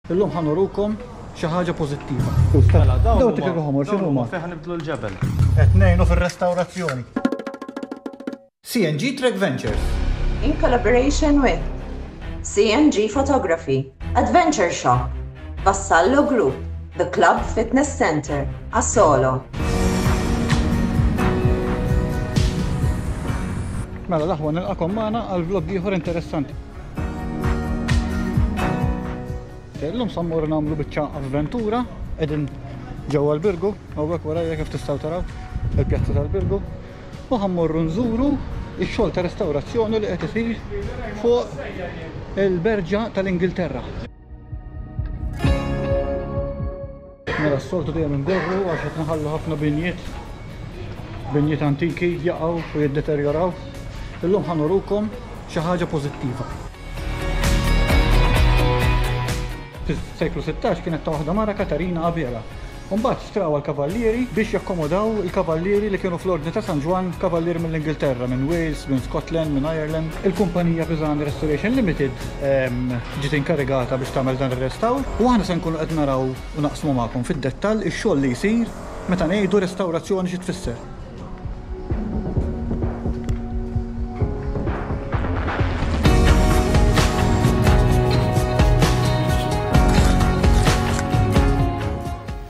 Illum ħa nurukom xi ħaġa pożittiva. Mela, dawn Dawn tikek ħomor x'inhuma? Fejn ħa nibdlu l-ġebel. Qed ngħinu fir-restawrazzjoni. CNG Trek Ventures. In collaboration with CNG Photography, Adventure Shop, Vassallo Group, The Club Fitness Center, Asolo. Mela l-aħwa nilqakom magħna għal vlog ieħor interessanti. Illum sa mmorru nagħmlu biċċa avventura qegħdin ġewwa l-Birgu, hawnhekk warajja kif tistgħu taraw il-pjazza tal-Birgu. U ħa mmorru nżuru x-xogħol ta' restawrazzjoni li qed isir fuq il-Berġa tal-Ingilterra. Mela s-soltu dejjem ingorru għax qed nħallu ħafna binjiet binjiet antiki jaqgħu u jiddeterjoraw. Illum ħa nurukom xi ħaġa pożittiva. Fis-seklu 16 kienet ta' waħda mara Katarina Abela. U mbagħad xtrawha l-kavallieri biex jakkomodaw il-kavallieri li kienu fl-Ordni ta' San Ġwann, kavallieri mill-Ingilterra, minn Wales, minn Scotland, minn Ireland. Il-kumpanija Pisani Restoration Limited ġiet inkarigata biex tagħmel dan ir-restawr u aħna se nkunu qed naraw u naqsmu magħkom fid-dettall ix-xogħol li jsir meta ngħidu restawrazzjoni xi tfisser.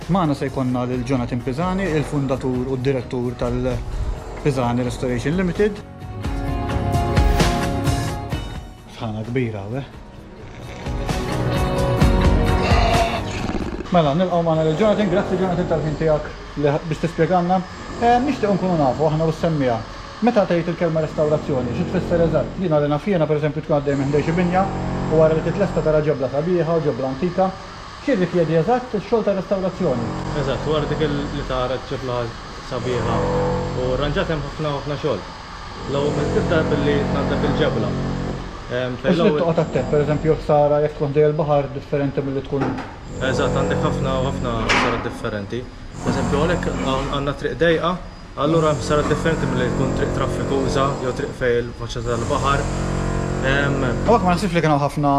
Magħna se jkollna lil Jonathan Pisani, il-fundatur u d-direttur tal-Pisani Restoration Limited. Sħana kbira hawn, eh? Mela, nilqgħu magħna lil Jonathan, grazzi Jonathan tal-ħin tiegħek li biex tispjegalna. Eh, nixtieq nkunu nafu aħna u s-semmiegħa. Meta tgħid il-kelma restawrazzjoni, xi tfisser eżatt? Jiena li naf jiena pereżempju tkun għaddej minn ħdejn xi binja u wara li titlesta tara ġebla sabiħa u ġebla antika. X'jirrikjedi eżatt ix-xogħol ta' restawrazzjoni? Eżatt, wara dik li tara ġebla sabiħa u rranġata hemm ħafna ħafna xogħol. L-ewwel meta tibda billi tnaddaf il-ġebla. U x'trid toqgħod attent, pereżempju ħsara jekk tkun ħdejn il-baħar differenti milli tkun. Eżatt, għandek ħafna u ħafna ħsarat differenti. Pereżempju hawnhekk għandna triq dejqa, allura hemm ħsarat differenti milli tkun triq traffikuża jew triq fejn il-faċċata tal-baħar. Hawnhekk ma naħsibx li kien hawn ħafna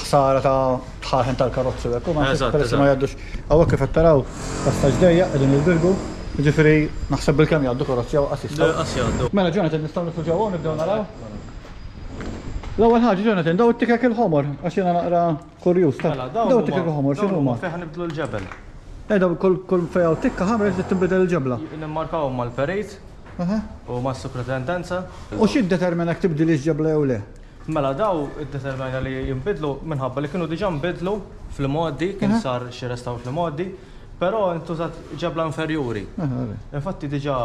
ħsara ta' dħaħen tal-karozzi u hekk, u ma naħsibx peress li ma jgħaddux. Hawnhekk kif qed taraw passaġġ dejjaq qegħdin il-Birgu, jiġifieri naħseb bilkemm jgħaddu karozzi hawn qas jistgħu. Qas jgħaddu. Mela Jonathan nistgħu nidħlu ġewwa u nibdew naraw? L-ewwel ħaġa Jonathan, daw it-tikek il-ħomor għax jiena naqra kurjuż ta' Mela, daw it-tikek il-ħomor x'inhuma? Fejn ħa nibdlu l-ġebel. Eh daw kull kull fejn hawn tikka ħamra trid tinbidel il-ġebla. Nimmarkawhom mal-perit u mas-supratendenza. U x'jiddetermina jekk tibdilhiex ġebla jew le? Mela daw iddeterminajna li jinbidlu minħabba li kienu diġà nbidlu fl-imgħoddi, kien sar xi restawr fl-imgħoddi, però ntużat ġebla inferjuri. Infatti diġà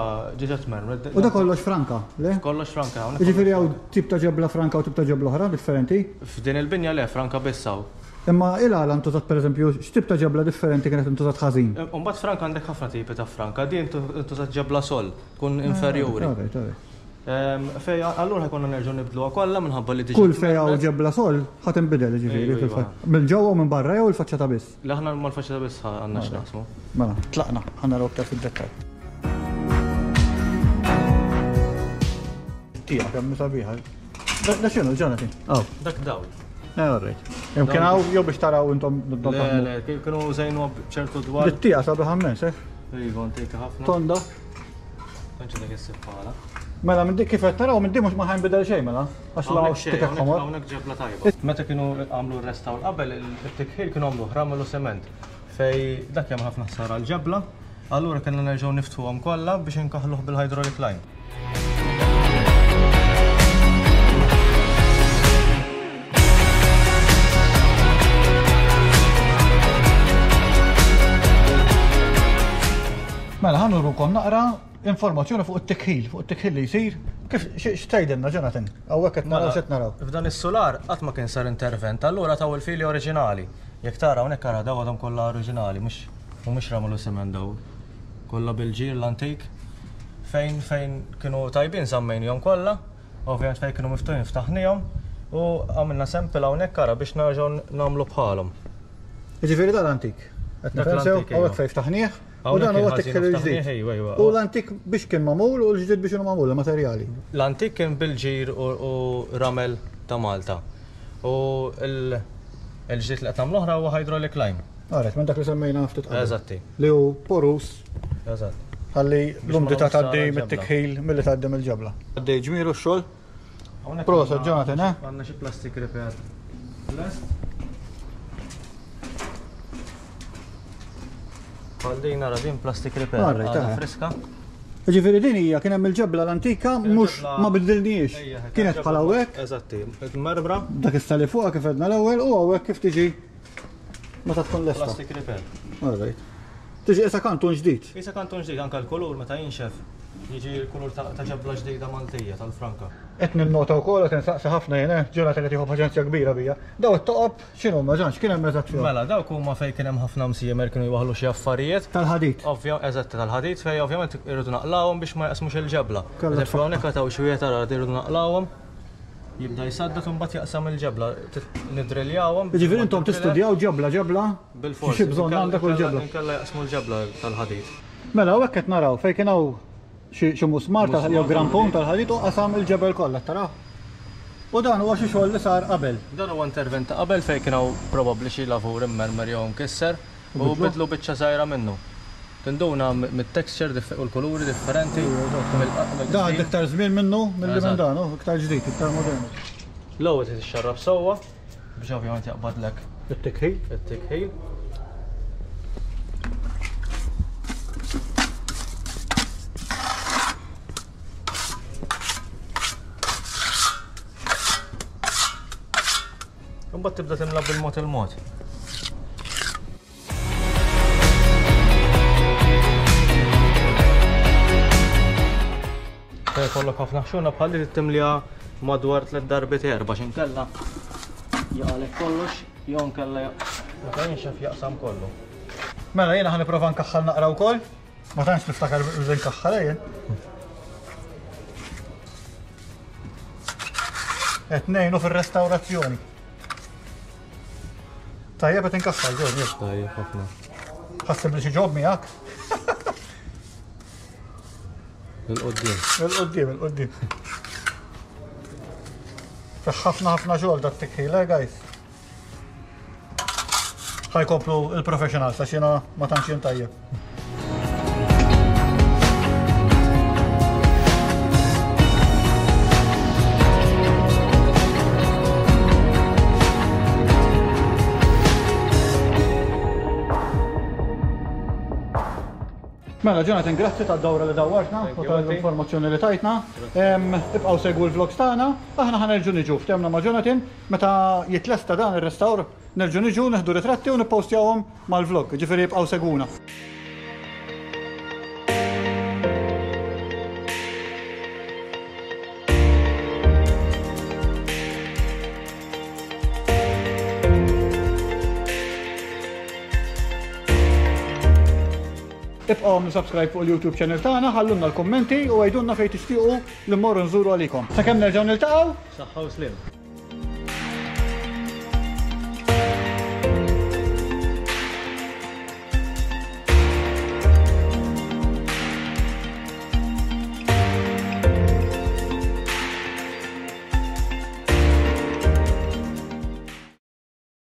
diġà tmermret. U da kollox franka, le? Kollox franka hawnhekk. Jiġifieri hawn tip ta' ġebla franka u tip ta' ġebla oħra differenti? F'din il-binja le, franka biss hawn. Imma il-għala ntużat pereżempju, x'tip ta' ġebla differenti kienet intużat ħażin? Imbagħad franka għandek ħafna tipi ta' franka, din intużat ġebla sol, tkun inferjuri. Alright, alright. Fej, allura ħajkonna nerġgħu nibdluha kollha minħabba li diġà. Kull fej hawn ġebla sol ħa tinbidel jiġifieri fil-fatt. Mill-ġewwa u minn barra jew il-faċċata biss? Le aħna mal-faċċata biss għandna x'naqsmu. Mela, tlaqna, ħa naraw aktar fid-dettall. Tija, kemm sabiħa. Da x'inhu, Jonathan? Aw. Dak dawl. Eh, all right. Imkien hawn jew biex taraw intom Le, le, kienu żejnu b'ċertu dwar. Tija sabiħa mmens, eh? Iva, antika ħafna. Tonda. Tantx dak is-sib Mela minn dik kif qed naraw minn din mhux ma ħajnbidel xejn mela. Għax la hawnx tikek ħomor. Hawnhekk ġebla tajba. Meta kienu għamlu r-restawr qabel it-tikħil kienu għamlu ramel u sement fej dak hemm ħafna ħsara l-ġebla, allura kellna nerġgħu niftħuhom kollha biex inkaħluh bil-hydraulic lime. Mela ħa nurukom naqra informazzjoni fuq it-tikħil, fuq it-tikħil li jsir. Kif x'tgħidilna Jonathan? Hawnhekk qed naraw x'qed naraw. F'dan is-sular qatt ma kien sar intervent, allura taw il-fili oriġinali. Jekk tara hawnhekk ara daw għadhom kollha oriġinali, mhux mhumiex ramel u siment daw. Kollha bil-ġir l-antik. Fejn fejn kienu tajbin żammejnihom kollha, ovvjament fejn kienu miftuħin ftaħnihom u għamilna sample hawnhekk ara biex nerġgħu nagħmlu bħalhom. Jiġifieri dan l-antik. Qed nifhem sew, hawnhekk fejn ftaħnieh. U dan huwa t-tikħil il-ġdid. U l-antik biex kien magħmul u l-ġdid biex inhu magħmul, il-materjali. L-antik kien bil-ġir u ramel ta' Malta. U. Il-ġdid li qed nagħmlu oħra huwa hydraulic lime. Alright, minn dak li semmejna ftit qabel. Eżatti. Li hu porus. Eżatt. Ħalli l-umdità tgħaddi mit-tikħil milli tgħaddi mill-ġebla. Għaddej ġmielu x-xogħol. Proset, Jonathan, eh? Għandna xi plastic repair. Lest. Bħal din nara din plastic repair. Alright, Għadha eh. friska. Ġifieri din hija kien hemm il-ġebla l-antika mhux ma biddilniex. Kienet bħal hawnhekk. Eżatti, merbra. Dak issa li fuqha kif għedna l-ewwel u hawnhekk kif tiġi meta tkun lesta. Plastic repair. Alright. Tiġi qisha kantun ġdid. Qisha kantun ġdid anke l-kulur meta jinxef jiġi l-kulur ta' ġebla ġdida Maltija tal-franka. Qed ninnota wkoll qed insaqsi ħafna jien, eh, Jonathan qed jieħu paċenzja kbira bija. Daw it-toqob x'inhuma Ġan, x'kien hemm eżatt fihom? Mela, dawk huma fejn kien hemm ħafna msiemer kienu jwaħħlu xi affarijiet. Tal-ħadid. Ovvja, eżatt tal-ħadid fejn ovvjament irridu naqlawhom biex ma jaqsmux il-ġebla. Kellha Eżempju hawnhekk għad hawn xi wieħed ara irridu naqlawhom. Jibda jsaddad u mbagħad jaqsam il-ġebla. Nidriljawhom. Jiġifieri intom tistudjaw ġebla ġebla Bilfors. Xi bżonn għandha kull ġebla. Inkella jaqsmu l-ġebla tal-ħadid. Mela hawnhekk qed naraw fejn kien hawn xi musmar tal jew grampun tal-ħadid u qasam il-ġebel kollha, taraw? U dan huwa xi xogħol li sar qabel. Dan huwa intervent ta' qabel fejn kien hawn probabbli xi lavur immermer jew imkisser u bidlu biċċa żgħira minnu. Tinduna mit-texture u l-kuluri differenti. Dan għadda iktar żmien minnu milli minn dan, hu iktar ġdid, iktar modernu. L-ewwel trid ixxarrab sewwa biex ovvjament jaqbadlek it-tikħil. It-tikħil. Imbagħad tibda timla bil-mod il-mod. Fejn jkollok ħafna ħxuna bħal li timlija madwar tliet darbiet erba' x'inkella jaqalek kollox jew inkella meta jinxef jaqsam kollu. Mela jiena ħa nipprova nkaħħal naqra wkoll. Ma tantx niftakar li nkaħħal eh, jien. Qed ngħinu fir-restawrazzjoni. Tajjeb qed inkaħħal ġol. Tajjeb ħafna. Ħassib li xi ġob miegħek. Il-qoddim. Il-qoddim, il-qoddim. Ħafna ħafna xogħol dak tikħil, eh, guys. Ħajkomplu il-professionals għax jiena ma tantx jien tajjeb. Mela, Jonathan, grazzi tad-dawra li dawwartna u tal-informazzjoni li tajtna. Ibqgħu segwu l-vlogs tagħna. Aħna ħa nerġgħu niġu ftehmna ma' Jonathan meta jitlesta dan ir-restawr nerġgħu niġu nieħdu ritratti u nippostjawhom mal-vlog. Ġifieri ibqgħu segwuna. Ibqgħu għamlu subscribe fuq il-YouTube channel tagħna, ħallulna l-kummenti u għidulna fejn tixtiequ li mmorru nżuru għalikom. Sakemm nerġgħu niltaqgħu. Saħħa u sliem.